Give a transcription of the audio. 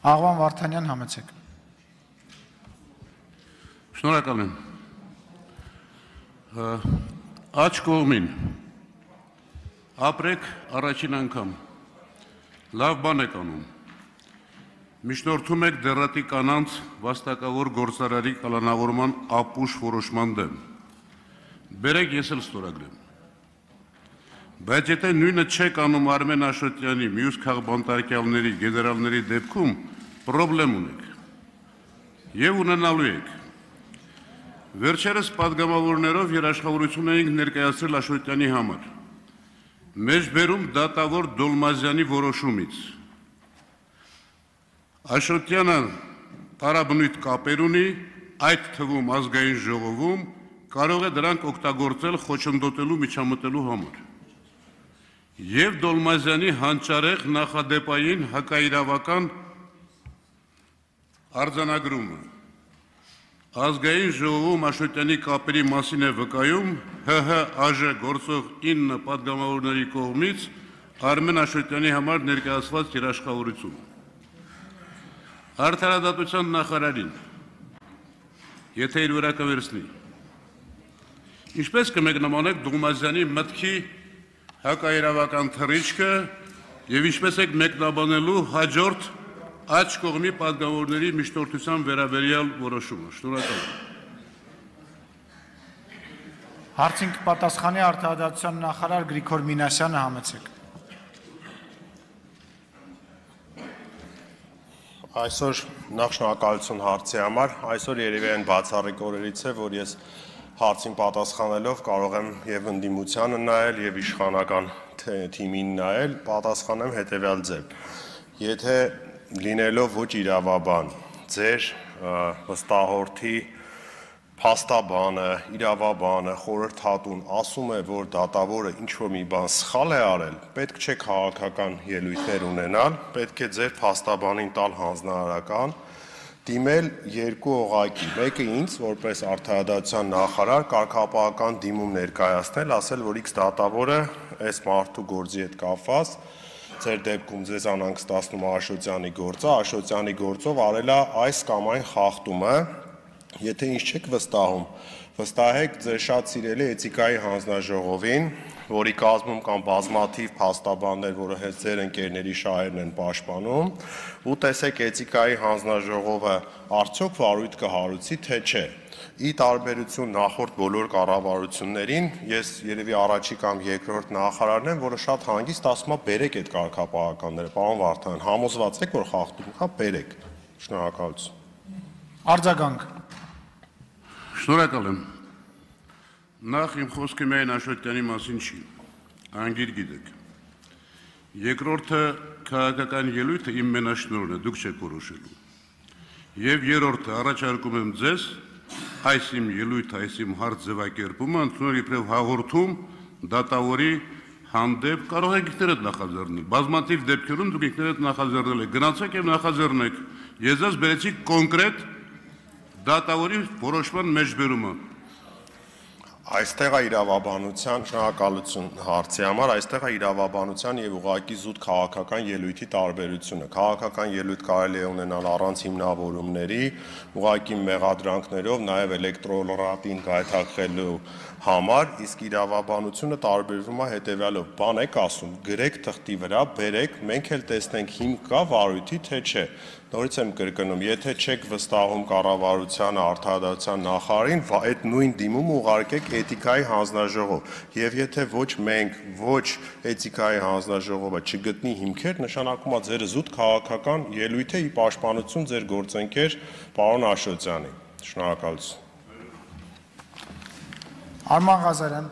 Աղվան Վարդանյան, համեցեք։ Շնորհակալ եմ։ Աջ կողմին ապրեք առաջին անգամ, լավ բան եք անում, միջնորդում եք դեռատի կանանց վաստակավոր գործարարի կալանավորման ապուշ որոշման դեմ, բերեք ես էլ ստորագրեմ, բայց եթե նույնը չեք անում Արմեն Աշոտյանի, մյուս քաղբանտարկյալների, գեներալների դեպքում, պրոբլեմ ունեք և ունենալու եք։ Վերջերս պատգամավորներով երաշխավորություն էինք ներկայացրել Աշոտյանի համար, մեզ բերում դատավոր Դոլմազյանի որոշումից։ Աշոտյանը տարաբնույթ կապեր ունի, այդ թվում ազգային ժողովում կարող է դրանք օգտագործել խոչընդոտելու միջամտելու համար։ Եվ Դոլմազյանի հանճարեղ նախադեպային հակաիրավական արձանագրումը ազգային ժողովում Աշոտյանի կապերի մասին է վկայում ՀՀԱԺ գործող 9 պատգամավորների կողմից Արմեն Աշոտյանի համար ներկայացված երաշխավորությունը։ Արդարադատության նախարարին, եթե իր վրա կվերցնի, ինչպես կմեկնաբանեք Դոլմազյանի մտքի հակաիրավական թռիչքը և ինչպես եք մեկնաբանելու հաջորդ աջ կողմի պատգամավորների միջնորդության վերաբերյալ որոշումը։ Շնորհակալ եմ։ Հարցին կպատասխանի արդարադատության նախարար Գրիգոր Մինասյանը, համեցեք։ Այսօր նախ շնորհակալություն հարցի համար, այսօր երևի այն բացառիկ օրերից է, որ ես հարցին պատասխանելով կարող եմ և ընդդիմությանը նայել և իշխանական թիմին նայել, պատասխանեմ հետևյալ ձև։ Եթե լինելով ոչ իրավաբան, ձեր վստահորդի փաստաբանը, իրավաբանը, խորհրդատուն ասում է, որ դատավորը ինչ-որ մի բան սխալ է արել, պետք չէ քաղաքական ելույթներ ունենալ, պետք է ձեր փաստաբանին տալ հանձնարարական, դիմել երկու օղակի, մեկը ինձ, որպես արդարադատության նախարար, կարգապահական դիմում ներկայացնել, ասել, որ X դատավորը այս մարդու գործի հետ կապված ձեր դեպքում ձեզ անհանգստացնում է Աշոտյանի գործը, Աշոտյանի գործով արել է այս կամ այն խախտումը, եթե ինչ չեք վստահում, վստահեք ձեր շատ սիրելի էթիկայի հանձնաժողովին, որի կազմում կան բազմաթիվ փաստաբաններ, որը հենց ձեր ընկերների շահերն են պաշտպանում, ու տեսեք էթիկայի հանձնաժողովը արդյոք վարույթ կհարուցի, թե չէ։ Ի տարբերություն նախորդ բոլոր կառավարություններին, ես երևի առաջի կամ երկրորդ նախարարն եմ, որը շատ հանգիստ ասում է բերեք այդ կարգապահականները, պարոն Վարդանյան, համոզված եք, որ խախտում կա, բերեք։ Շնորհակալություն։ Արձագանք։ Շնորհակալ եմ։ Նախ իմ խոսքը միայն Աշոտյանի մասին չի, անգիր գիտեք։ Երկրորդը քաղաքական ելույթը իմ մենաշնորհն է, դուք չեք որոշելու։ Եվ երրորդը առաջարկում եմ ձեզ այս իմ ելույթը, այս իմ հարց ձևակերպումը ընդունել իբրև հաղորդում դատավորի հանդեպ, կարող եք ինքներդ նախաձեռնել։ Բազմաթիվ դեպքերում դուք ինքներդ նախաձեռնել եք, գնացեք եւ նախաձեռնեք։ Ես ձեզ բերեցի կոնկրետ դատավորի որոշման մեջբերումը։ Այստեղ է իրավաբանության, շնորհակալություն հարցի համար, այստեղ է իրավաբանության եւ ուղղակի զուտ քաղաքական ելույթի տարբերությունը։ Քաղաքական ելույթ կարելի է ունենալ առանց հիմնավորումների, ուղղակի մեղադրանքներով, նաեւ էլեկտրոլրատին գայթակղելու համար, իսկ իրավաբանությունը տարբերվում է հետեւյալով. բան եք ասում, գրեք թղթի վրա, բերեք, մենք էլ տեսնենք հիմք կա վարույթի, թե չէ։ Նորից եմ կրկնում, եթե չեք վստահում կառավարությանը, արդարադատության նախարարին, այդ նույն դիմումը ուղարկեք էթիկայի հանձնաժողով, եւ եթե ոչ մենք, ոչ էթիկայի հանձնաժողովը չգտնի հիմքեր, նշանակում է ձեր զուտ քաղաքական ելույթ է ի պաշտպանություն ձեր գործընկեր պարոն Աշոտյանի։ Շնորհակալություն։ Արման Ղազարյան։